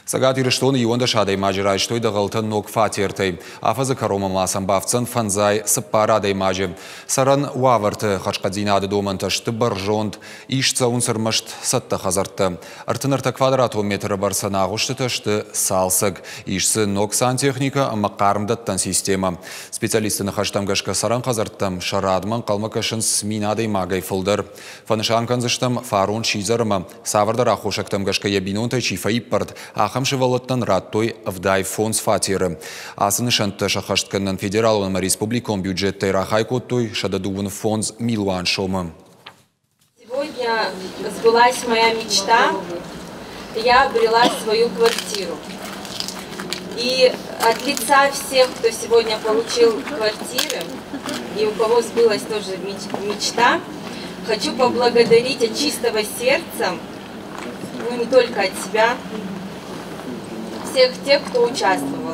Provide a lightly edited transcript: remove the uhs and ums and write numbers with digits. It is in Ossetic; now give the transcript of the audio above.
Цӕгат Ирыстоны 11 адӕймаджы райстой дӕгъӕлтӕ ног фатертӕй. Афӕдзы кӕронмӕ ма сӕм бафтдзӕн 54 адӕймаджы. Цӕрӕн уавӕрты хӕрзхъӕддзинады домӕнтӕ сты бӕрзонд. Ист цӕуынц ӕрмӕст цӕттӕ хӕдзӕрттӕ. 33 квадратон метры бӕрцӕн агъуыстытӕ сты цалцӕг. Ис дзы ног сантехникӕ ӕмӕ хъармдӕттӕн системӕ. Специалистты ныхӕстӕм гӕсгӕ цӕрӕн хӕдзӕрттӕм сӕ радмӕ ӕнхъӕлмӕ кӕсынц 1000 адӕймагӕй фылдӕр. Фӕнысан кӕндзыстӕм, фарон сидзӕр ӕмӕ цавӕрдӕр аххосӕгтӕм гӕсгӕ йӕ бинонтӕй чи фӕиппӕрд, ахӕм сывӕллӕттӕн радтой 75 фатеры. Ацы нысӕнттӕ сӕххӕст кӕнынӕн федералон ӕмӕ республикон бюджеттӕй рахай кодтой 125 милуан сомы. Сегодня сбылась моя мечта. Я обрела свою квартиру. И от лица всех, кто сегодня получил квартиры, и у кого сбылась тоже мечта, хочу поблагодарить от чистого сердца, ну не только от себя, всех тех, кто участвовал.